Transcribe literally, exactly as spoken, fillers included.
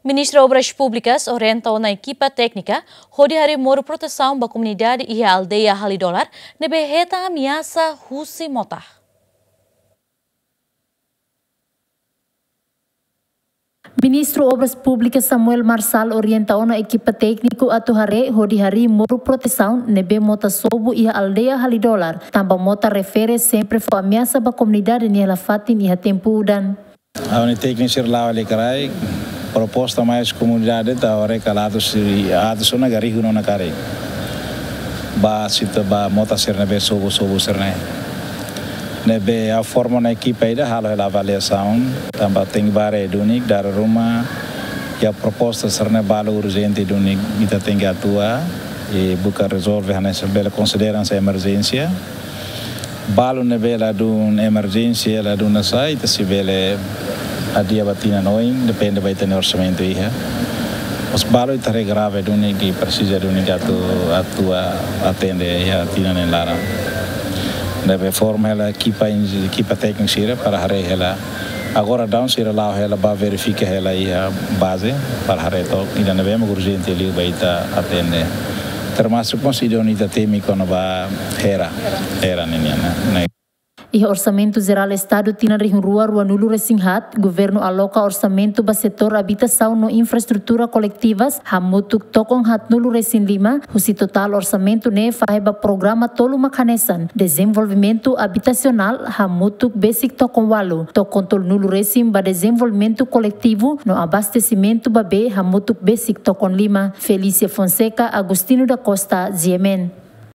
Ministru Obras Públikas orienta ona ekipa téknika hodi harii moru protesaun ba komunidade iha aldeia Halidolar ne'ebé hetan ameasa husi mota. Ministru Obras Públikas Samuel Marçal orienta ona ekipa tékniku atu haree hodi harii moru protesaun ne'ebé mota sobu iha aldeia Halidolar, tanba mota refere sempre fó ameasa ba komunidade nia hela fatin iha tempu udan. Ha'u-nia tékniku sira la'o Alecrae, proposta mai husi komunidade atu haree karik atu sira, atu sira-nia garihu no na karik. Ba sita ba mota sira ne'ebé sobu, sobu sira-ne'e. Ne'ebé ha'u forma ona ekipa ida halo hela avaliasaun, tanba tenke ba haree duni, dada ruma, iha proposta sira-ne'e balu urjente duni, ita tenke atua, i buka rezolve hanesan bele konsidera hanesan emerjénsia. Balu ne'ebé ladún emerjénsia, ladún ne'e sai, ita sei bele adia ba tinan oin, depende ba ita-nia orsamentu iha. Mas balu ita haree grave duni ke presiza duni ke atu atua atende iha tinan neen laran. Ne'ebé forma hela ekipa inj-, ekipa tékniku sira para haree hela. Agora daudaun sira la'o hela ba verifika hela iha baze para haree took ida ne'ebé mak urjente liu ba ita atende. Termasuk mós ida ne'ebé ita temi kona-ba hera, hera ninian, ne'e. Iha Orsamentu Jerál Estadu tinan rihun rua ruanulu resin haat, Governu aloka orsamentu ba setór abitasaun no infraestrutura koletivas hamutuk tokon haatnulu resin lima, husi totál orsamentu ne'e fahe ba programa tolu mak hanesan: dezenvolvimentu abitasionál hamutuk besik tokon ualu, tokon tolunulu resin ba dezenvolvimentu koletivu no abastesimentu ba bee hamutuk besik tokon lima. Felícia Fonseca, Agostinho da Costa, G M N.